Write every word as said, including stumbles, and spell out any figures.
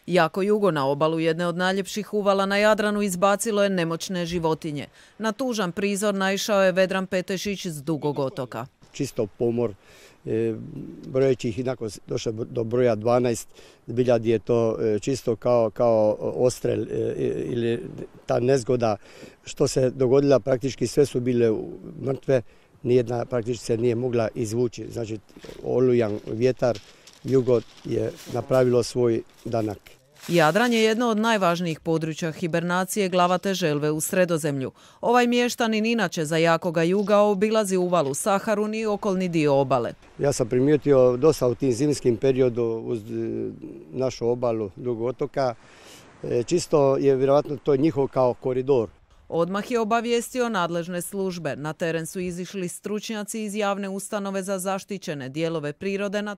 Jako jugo na obalu jedne od najljepših uvala na Jadranu izbacilo je nemoćne životinje. Na tužan prizor naišao je Vedran Petešić s Dugog otoka. Čisto pomor, e, brojeći ih inako došao do broja dvanaest, zbilja je to čisto kao, kao ostrel e, ili ta nezgoda što se dogodila, praktički sve su bile mrtve, nijedna praktički se nije mogla izvući. Znači, olujan vjetar, jugo je napravilo svoj danak. Jadran je jedno od najvažnijih područja hibernacije glavate želve u Sredozemlju. Ovaj mještanin inače za jakoga juga obilazi uvalu Saharun i okolni dio obale. Ja sam primijetio dosta u tim zimskim periodu uz našu obalu Dugog otoka. Čisto je vjerojatno to njihov kao koridor. Odmah je obavijestio nadležne službe. Na teren su izišli stručnjaci iz javne ustanove za zaštićene dijelove prirode na